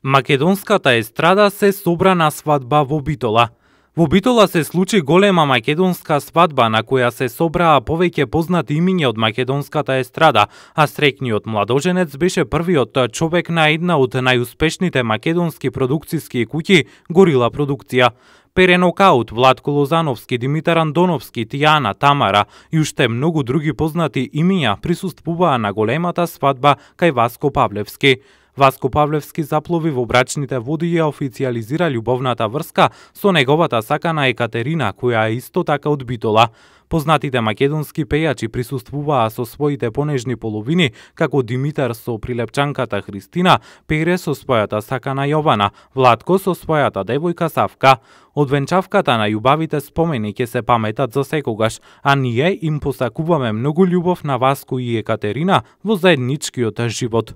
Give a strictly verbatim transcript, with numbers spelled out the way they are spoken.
Македонската естрада се собра на свадба во Битола. Во Битола се случи голема македонска свадба на која се собраа повеќе познати имиња од македонската естрада, а среќниот младоженец беше првиот човек на една од најуспешните македонски продукциски куќи Горила продукција. Пере Нокаут, Владко Лозановски, Димитар Андоновски, Тијана, Тамара и уште многу други познати имиња присуствуваа на големата свадба кај Васко Павлевски. Васко Павлевски заплови во брачните води и ја официјализира љубовната врска со неговата сакана Екатерина, која е исто така од Битола. Познатите македонски пејачи присуствуваа со своите понежни половини, како Димитар со прилепчанката Христина, Пере со својата сакана Јована, Владко со својата девојка Савка. Од венчавката на љубавите спомени ќе се паметат за секогаш, а ние им посакуваме многу љубов на Васко и Екатерина во заедничкиот живот.